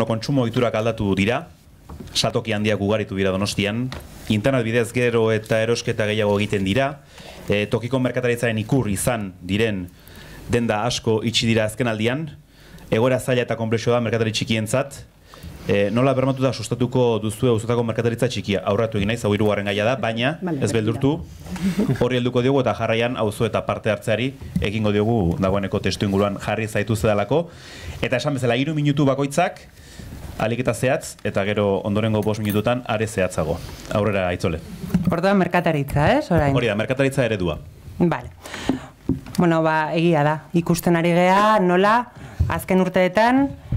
Kontsumo ohiturak aldatu dira, saltoki handiak ugaritu dira Donostian, internet bidez gero eta erosketa gehiago egiten dira, tokiko merkataritzaren ikur izan diren denda asko itxi dira azken aldian, egoera zaila eta konplexua da merkatari txikientzat. Nola bermatuta sustatuko duzue auzotako merkataritza txikia? Aurratu egin naiz, hau hirugarren gaia da, baina ez beldurtu, horri helduko diogu eta jarraian auzo eta parte hartzeari egingo diogu dagoeneko testu inguruan jarri zaitu zedalako. Eta esan bezala 3 minutu bakoitzak, alik eta zehatz, eta gero ondorengo 5 minututan are zehatzago. Aurrera, Aitzole. Orduan merkataritza, orain? Hori da, merkataritza eredua. Bale. Bueno, egia da. Ikusten ari gea, nola, azken urteetan,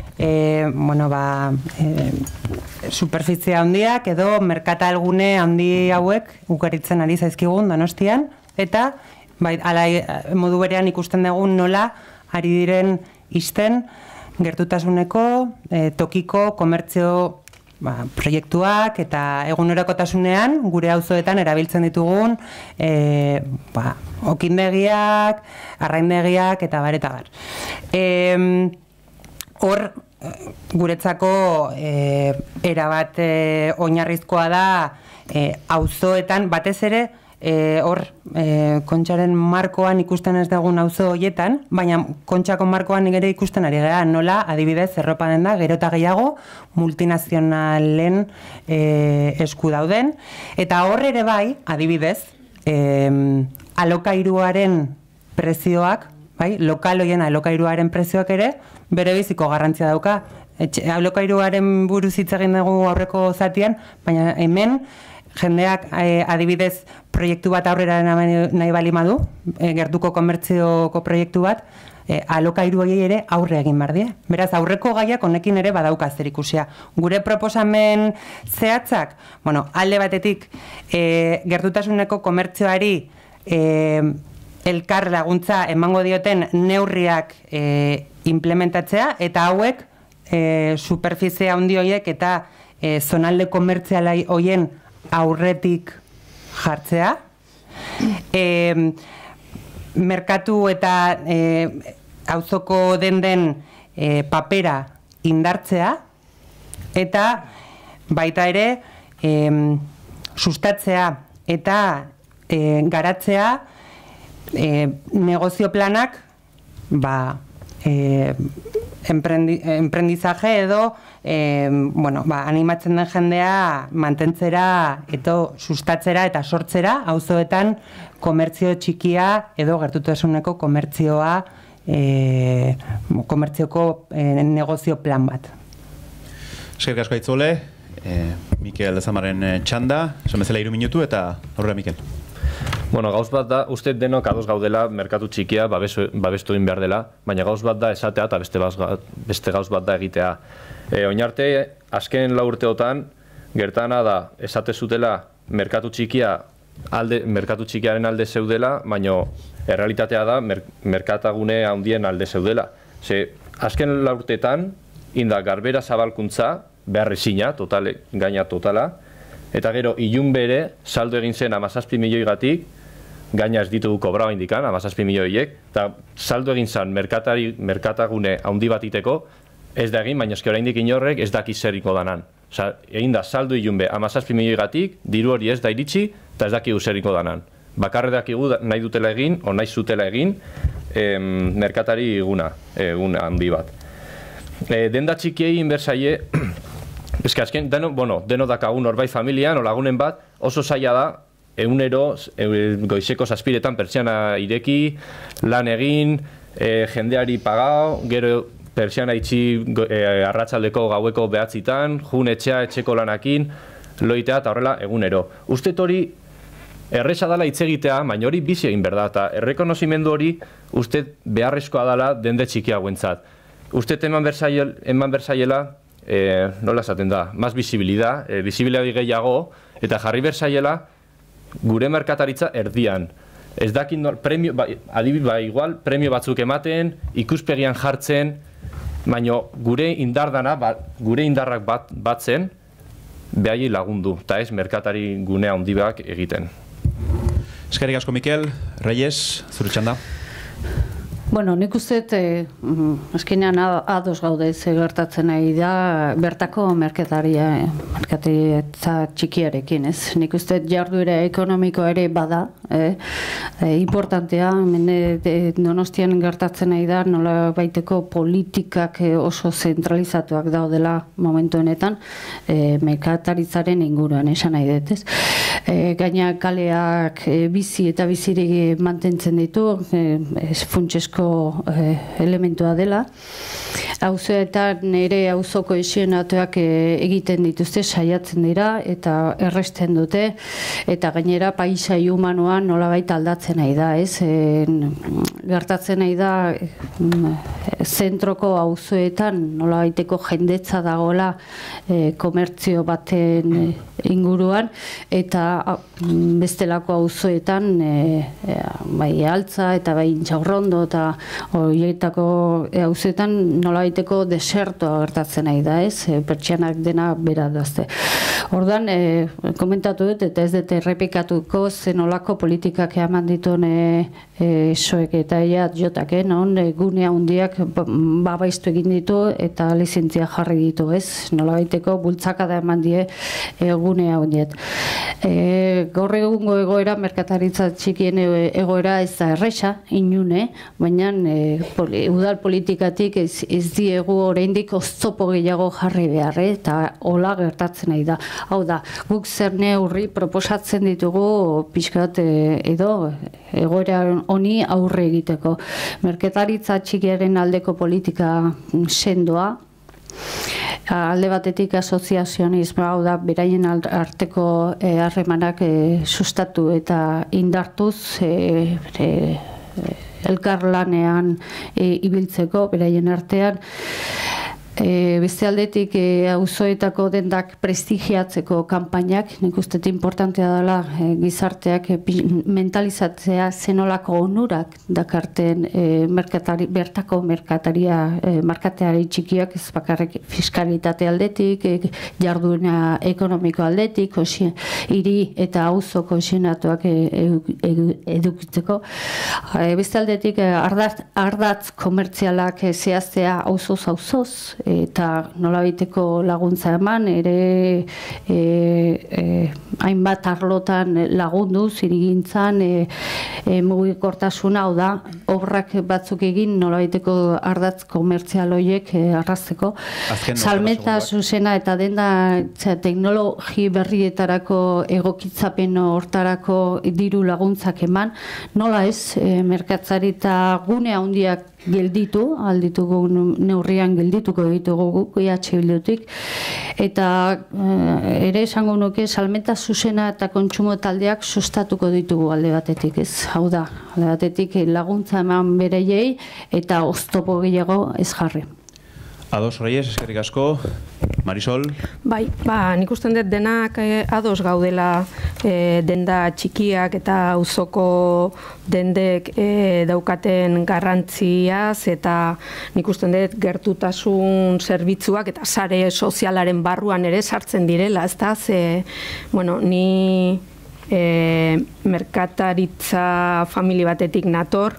superfizia handiak edo merkatalgune handi hauek ugaritzen ari zaizkigun Donostian, eta modu berean ikusten dugun nola ari diren isten gertutasuneko tokiko komertzio proiektuak eta egunerokotasunean gure auzoetan erabiltzen ditugun okindegiak, arraindegiak eta bar eta bar. Hor, guretzako erabat oinarrizkoa da auzoetan, batez ere, hor, Kontxaren markoan ikusten ez dugun auzo horietan, baina Kontxako markoan ere ikusten ari gara, nola, adibidez, erropa denda, gero eta gehiago, multinazionalen esku dauden, eta hor ere bai, adibidez, alokairuaren prezioak, lokal hoien alokairuaren prezioak ere, bere biziko garrantzia dauka. Alokairuaren buruz hitz egin dugu aurreko zatian, baina hemen jendeak adibidez proiektu bat aurrera nahi bali madu, gertuko komertzioko proiektu bat, alokairu horiei ere aurre egin behar die. Beraz, aurreko gaiak honekin ere badauka zerikusia. Gure proposamen zehatzak, alde batetik gertutasuneko komertzioari elkar laguntza emango dioten neurriak implementatzea, eta hauek superfizia handi horiek eta zonalde komertziala horien aurretik jartzea, merkatu eta auzoko denden papera indartzea, eta baita ere sustatzea eta garatzea negozio planak emprendizaje edo animatzen den jendea mantentzera eta sustatzera eta sortzera auzoetan komertzio txikia edo gertutasuneko komertzioa komertzioko negozio plan bat. Eskerrik asko Aitzole, Mikel Lezamaren txanda, esan bezala 3 minutu eta aurrera Mikel. Gauz bat da, uste denok ados gaudela merkatu txikia babestu egin behar dela, baina gauz bat da esatea eta beste gauz bat da egitea. Oinarte, azken 4 urteotan, gertana da, esate zutela merkatu txikiaren alde zeudela, baina errealitatea da merkatagune handien alde zeudela. Azken 4 urteetan, inda garbera zabalkuntza, beharrezina, gaina totala, eta gero ilun bere saldo egin zen 17 milioigatik, gaina ez ditugu kobrau indikan, 17 milioiek, eta saldo egin zen merkatagune handi bat iteko, ez da egin, baina eski oraindik inorrek ez daki zeriko danan. Egin da saldo ilun be 17 milioigatik, diru hori ez da iritsi, eta ez dakigu zeriko danan. Bakarre dakigu nahi dutela egin, o nahi zutela egin, merkatari egun handi bat. Denda txikiei inbertsaie, ez que azken, deno dakagun horbait familian, o lagunen bat, oso zaila da, egunero, goizeko 7 pertsiana ireki, lan egin, jendeari pagao, gero pertsiana itxi arratsaldeko gaueko 9:00, jun etxeko lanakin, loitea eta horrela egunero. Uste hori erresa dela hitz egitea, baina hori bizi egin behar da, eta errekonozimendu hori uste beharrezkoa dela dende txiki hauentzat. Uste eman berzaiela, nola esaten da, maz bizibilidad, bizibilidadi gehiago, eta jarri berzaiela gure merkataritza erdian. Ez dakin, igual, premio batzuk ematen, ikuspegian jartzen, baina gure indarrak batzen, behai lagundu, eta ez merkatari gune handiak egiten. Eskerrik asko Mikel, Reyes, zure txanda. Bueno, nik uste, azkenean ados gaude ze gertatzen nahi da bertako merkataritza txikiarekin, ez? Nik uste jarduera ekonomiko ere bada, importantea, Donostian gertatzen nahi da, nola baiteko politikak oso zentralizatuak daudela momentu honetan, merkataritzaren inguruan, esan nahi dut, ez? Gaina kaleak bizi eta bizirik mantentzen ditu, funtsesko elementua dela. Auzoetan ere auzoko esionatuak egiten dituzte, saiatzen dira eta erresten dute, eta gainera paisai humanoan nolabait aldatzen nahi da, ez? Gertatzen nahi da zentroko auzoetan nolabaiteko jendetza dagoela komertzio baten inguruan, eta bestelako auzoetan bai Altza eta bai Intxaurrondo eta horietako auzoetan nolabaiteko desertoa gertatzen nahi da, ez? Pertsianak dena bera dazte. Orduan, komentatu dut, eta ez dut errepikatuko zenolako politikak eman dituen soek eta jotak, non gune handiak babaiztu egin ditu eta lizentzia jarri ditu, ez? Nolabaiteko bultzakada eman die gune handiet. Gaur egungo egoera, merkataritza txikien egoera ez da erresa, inune, baina udal politikatik ez diegu oraindik oztopo gehiago jarri behar, eta hola gertatzen nahi da. Hau da, guk zer neurri proposatzen ditugu pixkat edo egoera honi aurre egiteko. Merkataritza txikiaren aldeko politika sendoa, alde batetik asoziazionismo, hau da, beraien arteko harremanak sustatu eta indartuz elkarlanean ibiltzeko beraien artean. Beste aldetik auzoetako dendak prestigiatzeko kanpainak, nik uste importantea dela gizarteak mentalizatzea zenolako onurak dakarten bertako merkatari txikiak, ez bakarrik fiskalitate aldetik, jarduena ekonomiko aldetik, hiri eta auzo kohesionatuak edukitzeko. Beste aldetik ardatz komertzialak zehaztea auzoz, eta nolabaiteko laguntza eman, ere hainbat arlotan lagundu, zirigintzan, mugikortasuna, hau da, obrak batzuk egin nolabaiteko ardatz komertzial horiek arrazteko. Salmenta zuzena eta denda teknologi berrietarako egokitzapen hortarako diru laguntzak eman, nola ez, merkatzarita gune handiak gelditu, alditugu neurrian geldituko ditugu guk Bildutik, eta ere esango nuke salmenta zuzena eta kontsumo taldeak sustatuko ditugu alde batetik, ez? Hau da, alde batetik laguntza eman bereiei eta oztopo gehiago ez jarri. Ados, Reyes, eskerrik asko. Marisol? Bai, nik usten dut denak ados gaudela denda txikiak eta auzoko dendek daukaten garrantziaz, eta nik usten dut gertutasun zerbitzuak eta sare sozialaren barruan ere sartzen direla, ez da? Ni merkataritza familia batetik nator,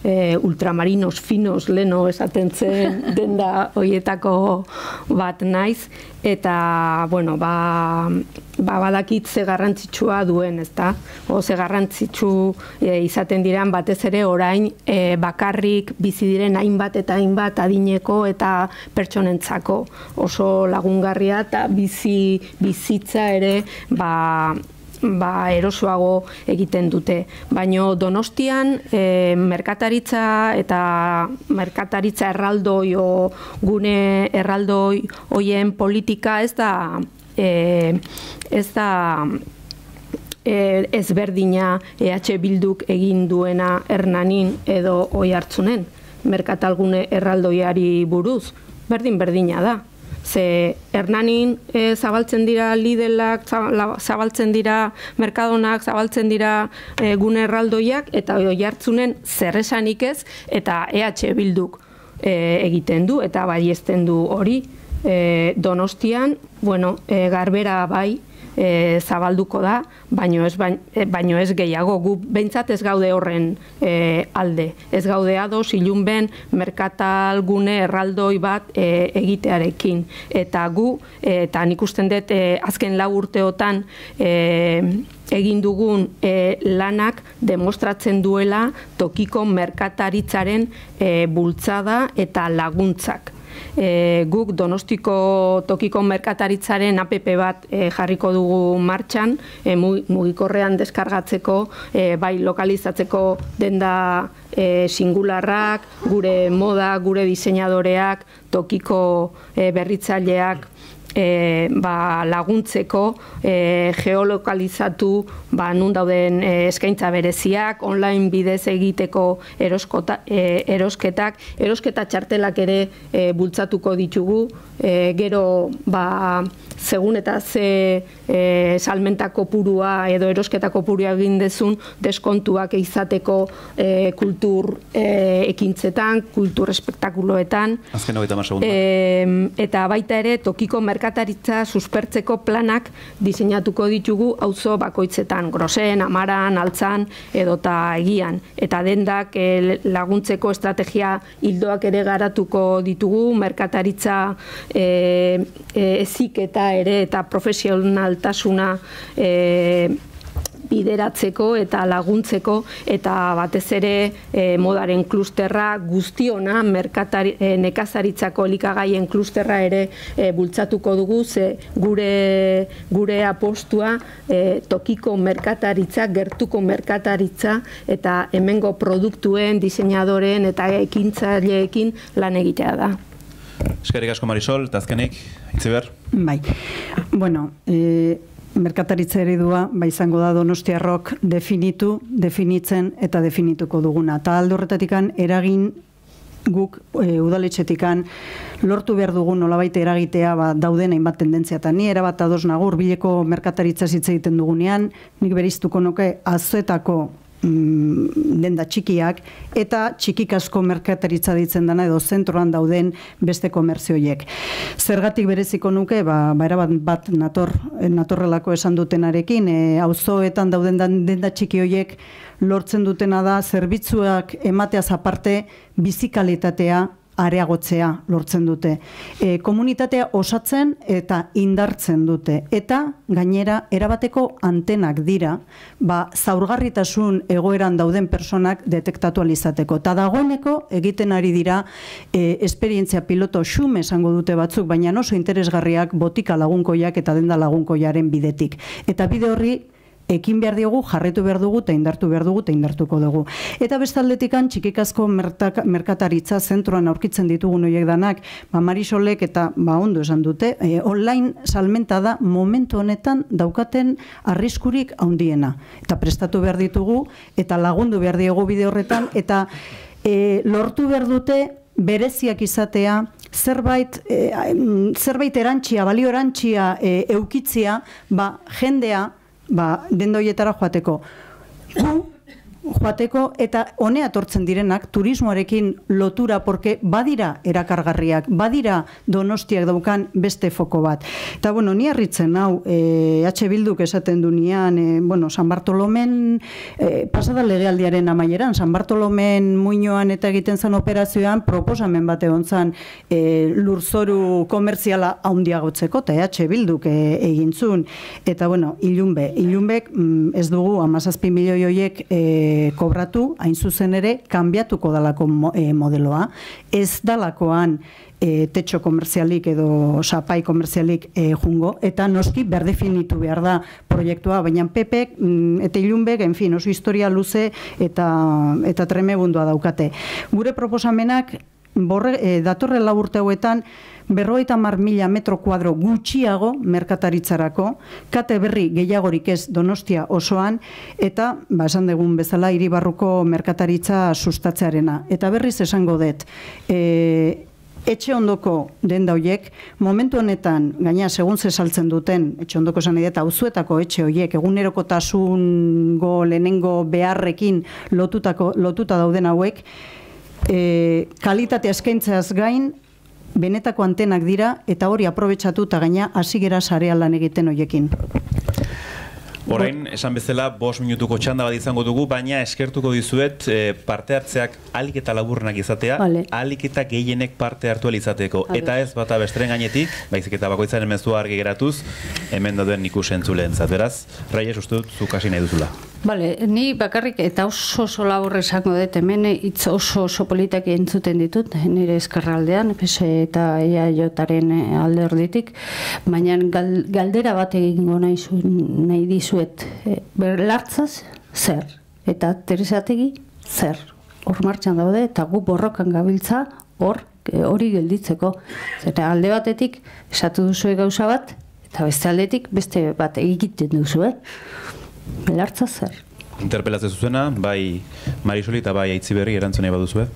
ultramarinos finos leno esaten zen denda horietako bat naiz, eta badakit ze garrantzitsua duen, ezta? Ze garrantzitsu izaten diren batez ere orain bakarrik bizi diren hainbat eta hainbat adineko eta pertsonentzako oso lagungarria, eta bizitza ere erosoago egiten dute. Baina Donostian merkataritza eta merkataritza erraldoi o gune erraldoi hoien politika ez da ezberdina Bilduk egin duena Hernanin edo Oiartzunen merkatalgune erraldoiari buruz. Berdina da. Ze Hernanin zabaltzen dira Lidlak, zabaltzen dira Mercadonak, zabaltzen dira gune erraldoiak, eta Oiartzunen zerresanik ez, eta Bilduk egiten du, eta baiezten du hori. Donostian, garbera bai, zabalduko da, baino ez gehiago. Gu behintzat ez gaude horren alde. Ez gaude ados ilunben merkatalgune erraldoi bat egitearekin. Eta gu, eta nik usten dut azken 4 urteotan egin dugun lanak demostratzen duela tokiko merkataritzaren bultzada eta laguntzak. Guk Donostiko tokiko merkataritzaren app bat jarriko dugu martxan, mugikorrean deskargatzeko, bai lokalizatzeko denda singularrak, gure moda, gure diseinadoreak, tokiko berritzaileak laguntzeko, geolokalizatu nun dauden eskaintza bereziak, online bidez egiteko erosketa txartelak ere bultzatuko ditugu, gero segun eta ze salmenta kopurua edo erosketa kopurua egin dezun deskontuak izateko kultur ekintzetan, kultur espektakuloetan. Azken 30 segundu. Eta baita ere tokiko merkataritza suspertzeko planak diseinatuko ditugu auzo bakoitzetan, Grosen, Amaran, Altzan edota Egian. Eta dendak laguntzeko estrategia ildoak ere garatuko ditugu, merkataritza heziketa ere eta profesionaltasuna bideratzeko eta laguntzeko, eta batez ere modaren klusterra guztiona, nekazaritzako elikagaien klusterra ere bultzatuko dugu, ze gure apostua tokiko merkataritza, gertuko merkataritza eta hemengo produktuen, diseinadoreen eta ekintzaileekin lan egitea da. Eskerrik asko Marisol, eta azkenik, Itziber? Bai, bueno, merkataritza eredua izango da donostiarrok definitzen eta definituko duguna. Eta alde horretatikan eragin guk udaletxetikan lortu behar dugun nolabait eragitea dauden hainbat tendentzia. Eta ni erabat ados nago hurbileko merkataritza hitz egiten dugunean, nik beriztuko nuke azoetako denda txikiak eta txikikasko merkataritza ditzen dana edo zentroan dauden beste komertzioiek. Zergatik bereziko nuke, erabat bat natorrelako esan dutenarekin, auzoetan dauden denda txiki horiek lortzen dutena da zerbitzuak emateaz aparte bizikalitatea areagotzea lortzen dute. Komunitatea osatzen eta indartzen dute. Eta gainera erabateko antenak dira, zaurgarritasun egoeran dauden personak detektatu alizateko. Eta dagoeneko egiten ari dira esperientzia piloto xume esango dute batzuk, baina oso interesgarriak botika lagunkoiak eta denda lagunkoiaren bidetik. Eta bide horri ekin behar diogu, jarretu behar dugu, eta indartu behar dugu, eta indartuko dugu. Eta bestaldetikan txikikazko merkataritza zentroan aurkitzen ditugun horiek danak, Marisolek eta ondo esan dute, online salmenta da momentu honetan daukaten arriskurik handiena. Eta prestatu behar ditugu, eta lagundu behar diogu bide horretan, eta lortu behar dute bereziak izatea, zerbait erantxia, balio erantxia eukitzia, jendea, denda horietara joateko. Eta honea etortzen direnak turismoarekin lotura, porque badira erakargarriak, badira Donostiak daukan beste foko bat. Eta, ni harritzen hau, Bilduk esaten du nian, San Bartolomen, pasada legealdiaren amaieran, San Bartolomen muinoan eta egiten zen operazioan, proposamen bat egon zen lurzoru komerziala handiagotzeko, eta Bilduk egintzun. Eta, ilunbek ez dugu 17 milioi horiek kobratu, hain zuzen ere, kanbiatuko dalako modeloa. Ez dalakoan tetxo komerzialik edo sapai komerzialik jungo, eta noski berdefinitu behar da proiektua, baina Pepek eta Ilunbek, oso historia luze eta tremebundua daukate. Gure proposamenak datorren 4 urte hauetan 50.000 metro kuadro gutxiago merkataritzarako, kate berri gehiagorik ez Donostia osoan, eta, esan dugun bezala, hiribarruko merkataritza sustatzearena. Eta berriz esango dut, etxe ondoko denda horiek, momentu honetan, gaina segun ze saltzen duten, etxe ondoko esan eta auzuetako etxe horiek, egunerokotasungo lehenengo beharrekin lotuta dauden hauek, kalitatea eskaintzeaz gain, benetako antenak dira, eta hori aprobetxatu eta gaina hasi gera sarean lan egiten horiekin. Orain, esan bezala, 5 minutuko txanda bat izango dugu, baina eskertuko dizuet parte hartzeak ahalik eta laburrenak izatea, ahalik eta gehienek parte hartu izateko. Eta ez bata besteren gainetik, baizik eta bakoitzaren mezua argi geratuz, hemen dauden ikusentzuleentzat. Beraz, Reyes, uste dut, zuk hasi nahi duzula. Bale, ni bakarrik eta oso labur esango dut, hemen hitz oso politak entzuten ditut, nire eskerraldean, PSE eta EAJaren alde orditik, baina galdera bat egingo nahi dizuet, Belartzaz zer, eta Teresategi zer, hor martxan daude, eta gu borrokan gabiltza hori gelditzeko. Zeta alde batetik esatu duzue gauza bat, eta beste aldetik beste bat egiten duzue. Belartza zer? Interpelazio zuzena, bai Marisoli eta bai Aitziberri erantzunei baduzue.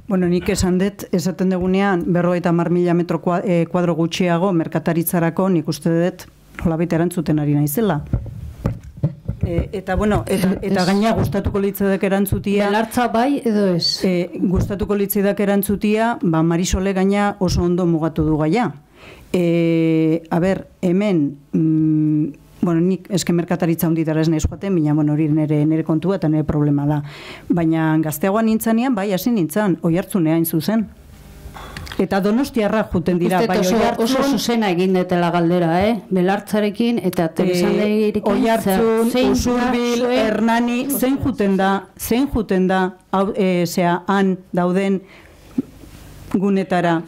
Bueno, nik esaten dugunean 50.000 metro kuadro gutxiago merkataritzarako nik uste dut nolabait erantzuten ari naizela. Eta bueno, eta gaina gustatuko litzaidake erantzutia. Belartza bai edo ez? Gustatuko litzaidake erantzutia, Marisole gaina oso ondo mugatu du gaia. A ber, hemen bueno, nik eske merkataritza hunditara ez nahiz joaten, baina bueno, hori nire kontua eta nire problema da. Baina gazteagoan nintzanean, bai, hasi nintzan, Oiartzunea hain zuzen. Eta Donostiarra juten dira, bai, oso zuzena egin detela galdera, Belartzarekin eta Teresandegirekin. Oiartzun, Usurbil, Hernani, zein juten da, han dauden gunetara.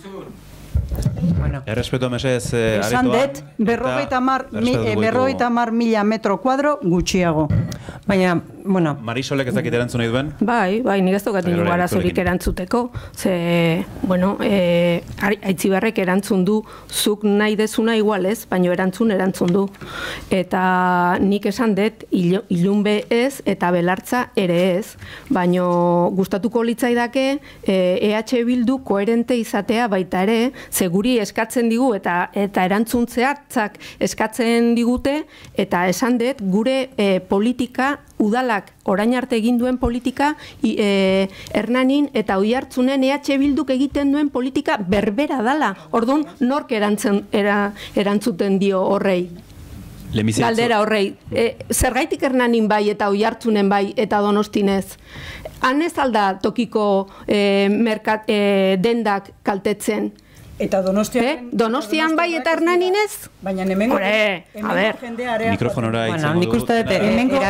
Errespeto mesez esan dut, 50.000 metro kuadro gutxiago. Baina, bueno... Marisolek ez dakit erantzun nahi duen? Bai, nik ez dukat inu arazorik erantzuteko. Ze, bueno, Aitziberrek erantzun du, zuk nahi dezuna igual ez, baina erantzun du. Eta nik esan dut, Ilunbe ez eta Belartza ere ez, baina gustatuko litzaidake EH Bildu koherente izatea baita ere, ze guri eskatzen digu eta erantzun zehatzak eskatzen digute, eta esan dut gure politika, udalak orain arte egin duen politika, Hernanin eta Oiartzunen EH Bilduk egiten duen politika berbera dala. Orduan, nork erantzuten dio horrei? Galdera horrei. Zergaitik Hernanin bai eta Oiartzunen bai eta Donostinez? Han ez alda tokiko dendak kaltetzen? Eta Donostian bai eta Hernaninez? Baina hemengo jendea... Mikrofonora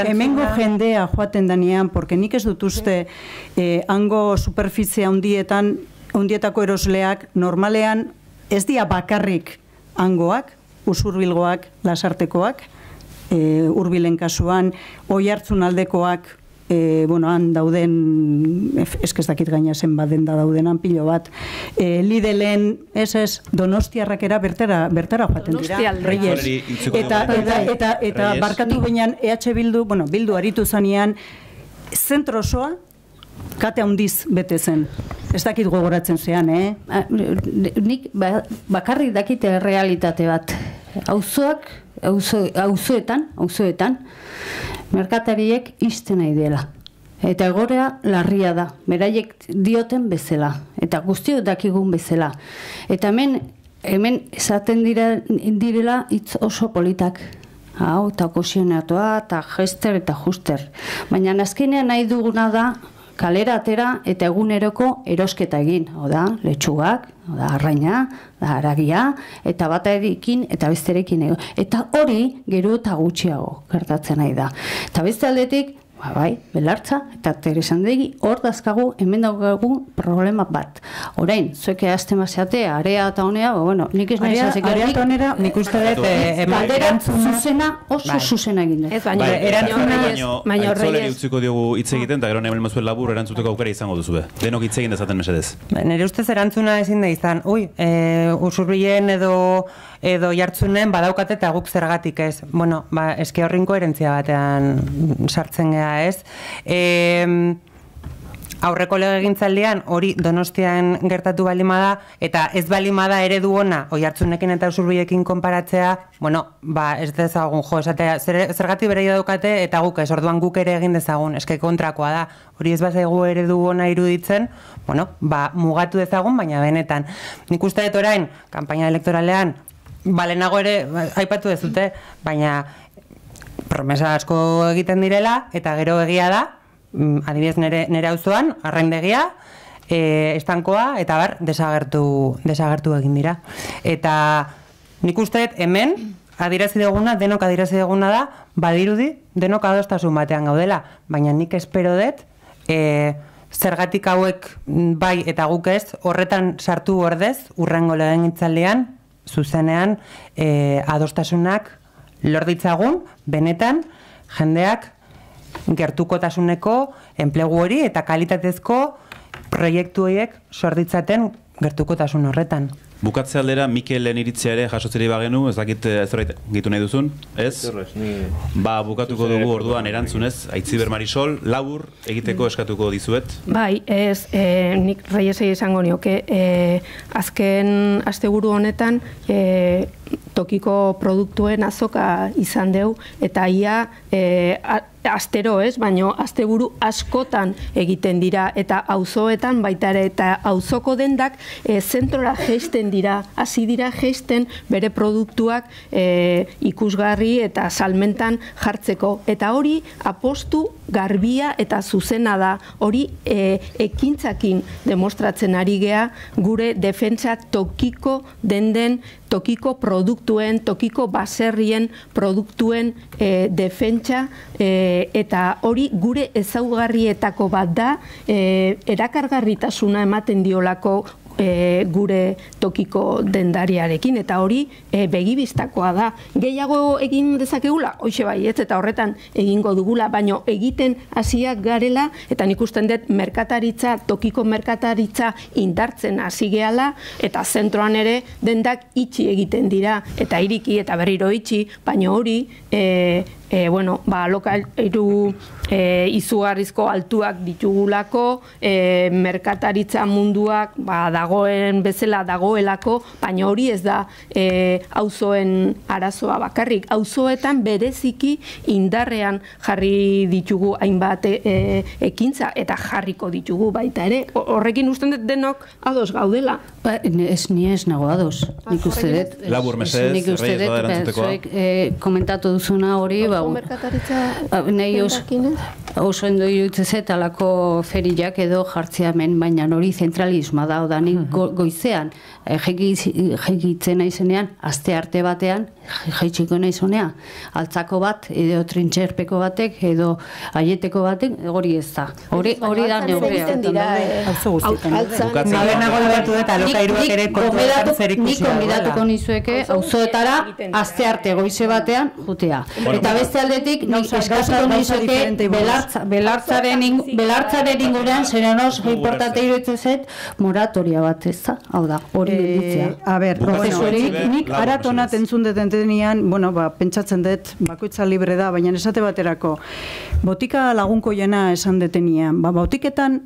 hemengo jendea joaten danean, porque nik ez dut uste hango superfizia hundietako erosleak normalean ez dia bakarrik hangoak, Usurbilgoak, Lasartekoak, Hurbilen kasuan, Oiartzun aldekoak, han dauden, ez dakit gaina zen bat denda daudenan pilo bat, Lidelen, Donostiarrak era bertara joaten dira, Reyes. Eta barkatu behinan EH Bildu, Bildu aritu zanean, zentro osoa, kate handiz bete zen. Ez dakit gogoratzen zean, Nik bakarrik dakite realitate bat. Auzoetan, merkatariek ixten nahi dela. Eta egoera larria da, beraiek dioten bezala, eta guztiok dakigun bezala. Eta hemen esaten direla hitz oso politak. Hau, eta kosionatua, eta gester eta juster. Baina azkenean nahi duguna da, kalera atera eta eguneroko erosketa egin. Oda, letxugak, oda, arraina, da, haragia, eta batarekin eta besterekin ego. Eta hori gero eta gutxiago gertatzen nahi da. Eta beste aldetik, bai, Belartza eta Teresandegi hor dazkagu hemen daukagu problema bat. Orain, zueke azte mazeate, area eta honea, nik ez nahi zazek. Area eta honera, nik uste dut zuzena, oso zuzena egin dut. Ez baina, Aitzoleri utziko diogu hitz egiten, eta gero nahi mazuen labur erantzuteko aukera izango duzue. Denok hitz egin dezaten mesedez. Nire ustez erantzuna ezin da izan, Usurbilen edo Jartzunen badaukate eta guk zergatik ez. Eske horrin koherentzia batean sartzen gea ez. Aurreko legegintzaldian hori Donostian gertatu balimada eta ez balimada eredu ona Oiartzunekin eta Usurbilekin konparatzea, ez dezagun esatea zergatik bereia daukate eta guk ez, orduan guk ere egin dezagun, eske kontrakoa da. Hori ez bazaigu eredu ona iruditzen, mugatu dezagun, baina benetan. Nik uste dut orain, kanpaina elektoralean, balenago ere aipatu dezute, baina promesa asko egiten direla, eta gero egia da, adibidez nire auzoan, arraindegia, estankoa, eta bar, desagertu egin dira. Eta nik uste hemen, denok adierazi duguna da, badirudi, denok adostasun batean gaudela, baina nik espero dut, zergatik hauek bai eta guk ez, horretan sartu ordez, urrengo legegintzaldian, zuzenean, adostasunak lor ditzagun, benetan, jendeak gertukotasuneko enplegu hori eta kalitatezko proiektu horiek sor ditzaten gertukotasun horretan. Bukatze aldera, Mikelen iritzia ere jasotzeri bagenu, ez dakit zerbait gitu nahi duzun, ez? Ba, bukatuko dugu orduan erantzunez, Aitziber Marisol, labur egiteko eskatuko dizuet. Bai, ez, nik Reyesei esango nioke, azken asteburu honetan, tokiko produktuen azoka izan deu, eta ia astero ez, baino asteburu askotan egiten dira, eta auzoetan baita ere, eta auzoko dendak zentrora jeisten dira, hasi dira jeisten bere produktuak ikusgarri eta salmentan jartzeko. Eta hori apostu garbia eta zuzena da, hori ekintzakin demostratzen ari gea gure defentsa tokiko denden, tokiko produktuen, tokiko baserrien produktuen defentsa, eta hori gure ezaugarrietako bat da, erakargarritasuna ematen diolako gure tokiko dendariarekin, eta hori begibistakoa da. Gehiago egin dezakegula, hoxe bai, ez, eta horretan egingo dugula, baino egiten hasiak garela, eta nik usten dut merkataritza, tokiko merkataritza indartzen hasi gehala, eta zentroan ere dendak itxi egiten dira, eta iriki eta berriro itxi, baino hori alokairu izugarrizko altuak ditugulako, merkataritza munduak dagoen bezala dagoelako, baina hori ez da auzoen arazoa bakarrik. Auzoetan bereziki indarrean jarri ditugu hainbat ekintza eta jarriko ditugu baita ere. Horrekin usten dut denok ados gaudela. Ni ez nago ados. Nik uste dut. Labur mesedez, Reyes bada erantzutekoa. Komentatu duzuna hori, nahi oso endo irutzezet alako feriak edo jartzea hemen, baina hori zentralismoa da, odanik goizean jegitzen naizenean, aste arte batean, jaitsiko naizonea, altzako bat, edo trintxerpeko batek, edo aieteko batek, hori ez da. Hori da neurria. Nik konbidatuko nizueke, auzoetara, aste arte goize batean, jutea. Eta beste aldetik, eskatuko nizueke, belartzaren ingurean, zerenos, importante iruditzen zait, moratoria bat ez da, hau da, hori gelditzea. A ber, nik aratonat entzun detentenean, pentsatzen dut, bakoitza libre da, baina esate baterako, botika lagunko jena esan detenean, botiketan,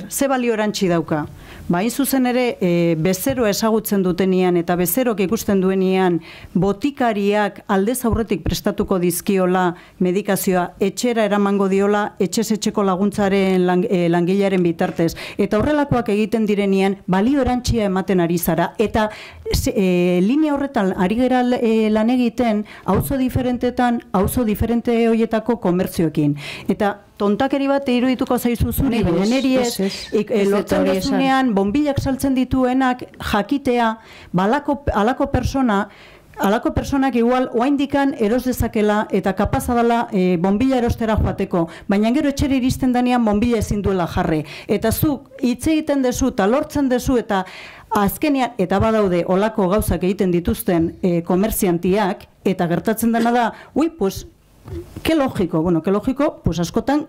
ze balio erantzi dauka? Hain zuzen ere, bezeroa ezagutzen dutenean eta bezerok ikusten duenean botikariak aldez aurretik prestatuko dizkiola medikazioa, etxera eramango diola, etxez-etxeko laguntzaren langilearen bitartez. Eta horrelakoak egiten direnean, balio erantzia ematen ari zara. Eta linea horretan ari gera lan egiten, auzo diferentetan, auzo diferente horietako komertzioekin. Eta tontakeri bat irudituko zaizu zuri, baina neri ez, lortzen duzunean, bonbilak saltzen dituenak jakitea, alako personak igual oaindikan eros dezakela eta kapaza dela bonbila erostera joateko, baina gero etxera iristen danean bonbila ezin duela jarre. Eta zuk hitz egiten dezu eta lortzen dezu eta azkenean, eta badaude olako gauzak egiten dituzten komerziantiak, eta gertatzen dena da, que logiko, pues askotan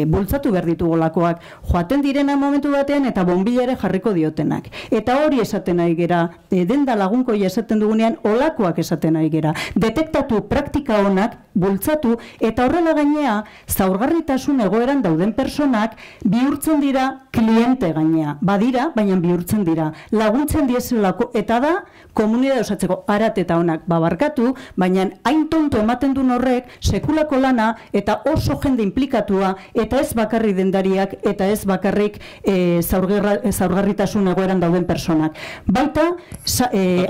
bultzatu behar ditugu lakoak, joaten direna momentu batean eta bonbila ere jarriko diotenak. Eta hori esaten ari gera, denda lagunkoia esaten dugunean, olakoak esaten ari gera. Detektatu praktika honak, bultzatu, eta horrela gainea, zaurgarritasun egoeran dauden personak bihurtzen dira kliente gainea. Badira, baina bihurtzen dira. Laguntzen diezelako, eta da, komunidade osatzeko arat eta honak babarkatu, baina hain tonto ematen duen horrek, sekulako lana, eta oso jende implikatua, eta ez bakarrik dendariak, eta ez bakarrik zaurgarritasun egoeran dauden personak. Baita,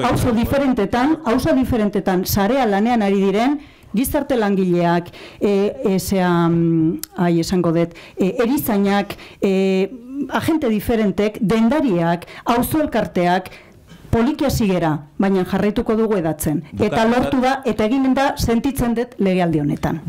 auzo diferentetan, sarea lanean ari diren, gizarte langileak, esango dut, erizainak, agente diferentek, dendariak, auzo elkarteak, poliki hasi gera, baina jarraituko dugu edatzen. Eta lortu da, eta eginen da sentitzen dut legealdi honetan.